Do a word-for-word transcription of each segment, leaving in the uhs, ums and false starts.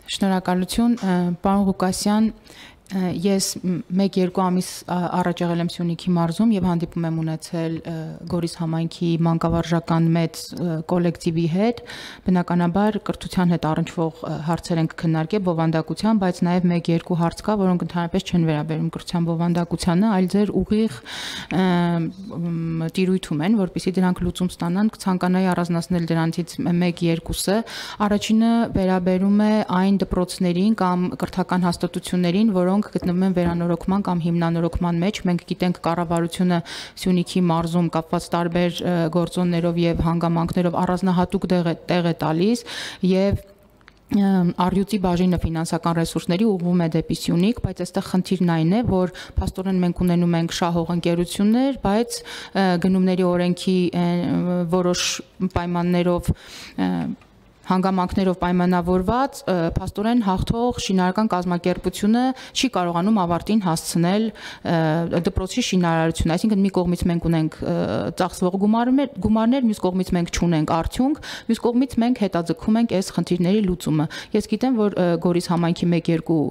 Շնորհակալություն, պարոն Ղուկասյան, ես մեկ-երկու ամիս առաջ եղել եմ Սյունիքի մարզում եւ հանդիպում եմ ունեցել Գորիս համայնքի մանկավարժական մեծ կոլեկտիվի հետ, բնականաբար կրթության հետ առնչվող հարցեր ենք քննարկել բովանդակության, բայց նաեւ մեկ-երկու հարց կա, որոնք ընդհանրապես չեն վերաբերում կրթության բովանդակությանը, այլ ձեր ուղիղ տիրույթում են, որպեսզի դրանք լուծում ստանան, կցանկանայի առանձնացնել դրանցից մեկ-երկուսը։ Առաջինը վերաբերում է այն դպրոցներին կամ կրթական հաստատություններին, որոնք գտնվում են վերանորոգման կամ հիմնանորոգման մեջ։ Մենք գիտենք կառավարությունը Սյունիքի մարզում կապված տարբեր գործոններով եւ հանգամանքներով առանձնահատուկ տեղ է տալիս եւ Արյուծի բաժինը ֆինանսական ռեսուրսների ուղղվում է դեպի Սյունիք, բայց այստեղ խնդիրն այն է, որ փաստորեն մենք ունենում ենք շահող ընկերություններ, բայց գնումների օրենքի որոշ պայմաններով հանգամանքներով պայմանավորված փաստորեն հաղթող շինարարական կազմակերպությունը չի կարողանում ավարտին հասցնել դպրոցի շինարարությունը, այսինքն մի կողմից մենք ունենք ծախսվող գումարներ, գումարներ, մյուս կողմից մենք չունենք արդյունք, մյուս կողմից մենք հետաձգում ենք այս խնդիրների լուծումը։ Ես գիտեմ, որ Գորիս համայնքի մեկ-երկու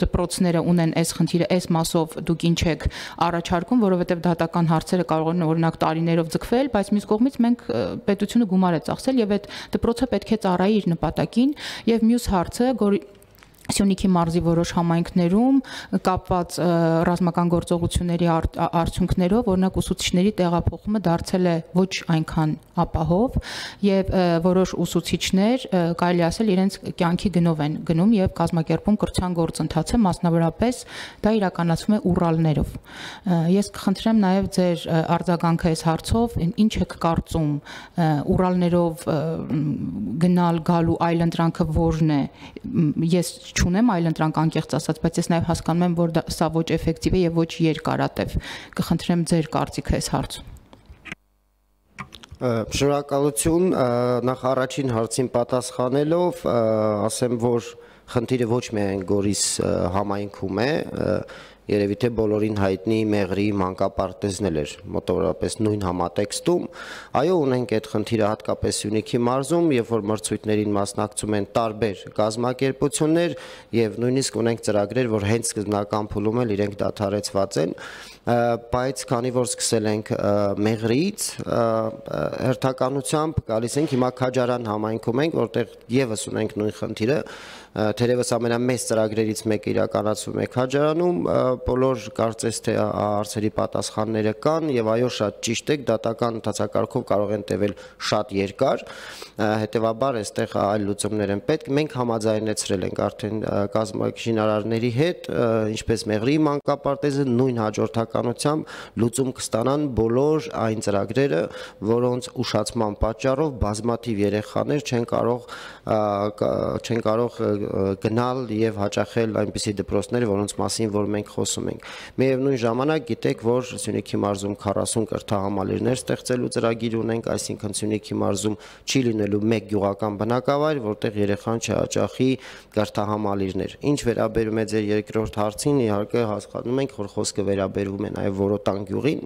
դպրոցները ունեն այս խնդիրը, այս մասով դուք ինչ եք առաջարկում, որովհետև դատական հարցերը կարող են օրինակ տարիներով ձգվել, բայց մյուս կողմից մենք պետությունը գումար է ծախսել եւ այդ դպրոցը պետք է ծառայի իր նպատակին եւ մյուս հարցը Սյունիքի մարզի որոշ համայնքներում կապված ռազմական գործողությունների արդյունքներով օրինակ ուսուցիչների տեղափոխումը դարձել է ոչ այնքան ապահով եւ որոշ ուսուցիչներ կարելի ասել իրենց կյանքի գնով են գնում եւ կազմակերպում կրթության գործընթացը, մասնավորապես դա իրականացվում է ուրալներով։ Ես կխնդրեմ նաեւ ձեր արձագանքը այս հարցով, ինչ եք կարծում ուրալներով գնալ գալու այլընտրանքը որն է։ Ես չունեմ այլընտրանք անկեղծ ասած, բայց ես նաև հասկանում եմ, որ սա ոչ էֆեկտիվ է եւ ոչ երկարատև։ Կխնդրեմ ձեր կարծիքը այս հարցում։ Շնորհակալություն, նախ առաջին հարցին պատասխանելով, ասեմ, որ խնդիրը ոչ միայն Գորիս համայնքում է, երևի թե բոլորին հայտնի Մեղրի մանկապարտեզն էր մոտավորապես նույն համատեքստում։ Այո, ունենք այդ խնդիրը հատկապես Սյունիքի մարզում, երբ որ մրցույթներին մասնակցում են տարբեր կազմակերպություններ եւ նույնիսկ ունենք ծրագրեր, որ հենց սկզբնական փուլում էլ իրենք դադարեցված են, բայց քանի որ սկսել ենք Մեղրիից, հերթականությամբ գալիս ենք հիմա Քաջարան համայնքում ենք, որտեղ եւս ունենք նույն խնդիրը, թերևս ամենամեծ ծրագրերից մեկը իրականացվում է Քաջարանում, բոլոր կարծես թե հարցերի պատասխանները կան եւ այո շատ ճիշտ է, դատական ընթացակարգով կարող են տևել շատ երկար, հետեւաբար այստեղ այլ լուծումներ են պետք։ Մենք համաձայնեցրել ենք արդեն կազմակերպությունների հետ, ինչպես Մեղրի մանկապարտեզը, նույն հաջորդականությամբ լուծում կստանան բոլոր այն ծրագրերը, որոնց ուշացման պատճառով բազմաթիվ երեխաներ չեն կարող չեն կարող գնալ եւ հաճախել այնպիսի դպրոցներ, որոնց մասին որ մենք խոսում ենք։ Միևնույն ժամանակ գիտեք, որ Սյունիքի մարզում քառասուն կրթահամալիրներ ստեղծելու ծրագիր ունենք, այսինքն Սյունիքի մարզում չի լինելու մեկ գյուղական բնակավայր, որտեղ երեխան չհաճախի կրթահամալիրներ։ Ինչ վերաբերում է ձեր երկրորդ հարցին, իհարկե հասկանում ենք, որ խոսքը վերաբերվում է նաեւ Որոտան գյուղին։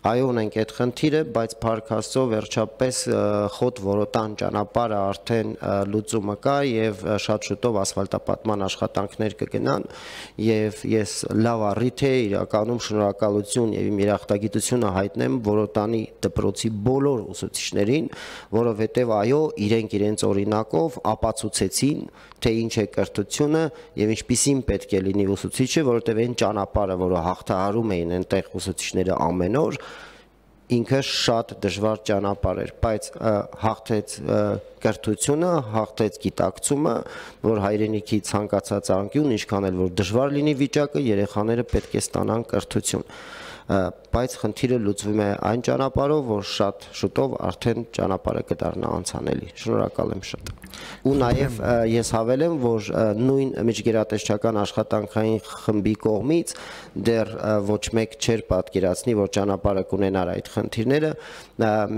Այո, ունենք այդ խնդիրը, բայց փառք Աստծո վերջապես խոտ Որոտան ճանապարհը արդեն լուծումը կա եւ շատ շուտով ասֆալտապատման աշխատանքներ կգնան եւ ես լավ առիթ է իրականում շնորհակալություն եւ իմ երախտագիտությունը հայտնեմ Որոտանի դպրոցի բոլոր ուսուցիչներին, որովհետեւ այո, իրենք իրենց օրինակով ապացուցեցին, թե ինչ է կրթությունը եւ ինչպիսին պետք է լինի ուսուցիչը, որովհետեւ այն ճանապարհը, որը հաղթահարում էին այնտեղ ուսուցիչները ամեն օր, ինքը շատ դժվար ճանապարհ էր, բայց հաղթեց կրթությունը, հաղթեց գիտակցումը, որ հայրենիքի ցանկացած անկյուն, ինչքան էլ որ դժվար լինի վիճակը, երեխաները պետք է ստանան կրթություն, բայց խնդիրը լուծվում է այն ճանապարհով, որ շատ շուտով արդեն ճանապարհը կդառնա անցանելի։ Շնորհակալ եմ շատ։ Ու նաև ես հավելեմ, որ նույն միջգերատեսչական աշխատանքային խմբի կողմից դեռ ոչ մեկ չէր պատկերացնի, որ ճանապարհը կունենար այդ խնդիրները,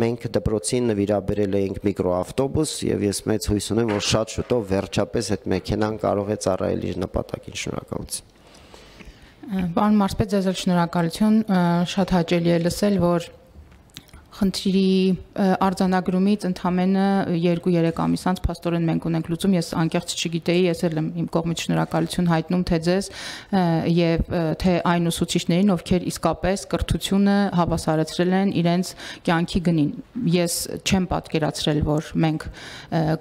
մենք դպրոցին նվիրաբերել էինք միկրոավտոբուս եւ ես մեծ հույս ունեմ, որ շատ շուտով վերջապես այդ մեքենան կարող է ծառայել իր նպատակին։ Շնորհակալություն։ Պարոն Մարզպետ, ձեզ շնորհակալություն, շատ հաճելի է լսել, որ Խնդրի արձանագրումից ընդամենը երկու երեք ամիս անց փաստորեն մենք ունենք լուծում, ես անկեղծ չգիտեի, ես էլ եմ իմ կողմից շնորհակալություն հայտնում թե ձեզ եւ թե այն ուսուցիչներին, ովքեր իսկապես կրթությունը հավասարեցրել են իրենց կյանքի գնին։ Ես չեմ պատկերացրել, որ մենք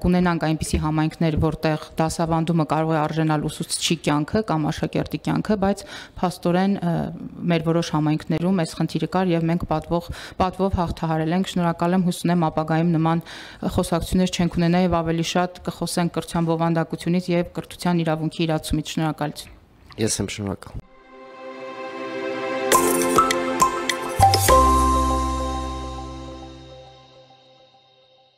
կունենանք այնպիսի համայնքներ, որտեղ դասավանդումը կարող է արժանալ ուսուցչի կյանքը կամ աշակերտի կյանքը, բայց փաստորեն մեր որոշ համայնքներում այս խնդիրը կար եւ մենք պատվող պատվով հաղթահարել ենք։ Շնորհակալ եմ, հույս ունեմ ապագայում նման խոսակցություններ չենք ունենա եւ ավելի շատ կխոսենք կրթության բովանդակությունից եւ կրթության իրավունքի իրացումից։ Շնորհակալություն։ Ես եմ շնորհակալ։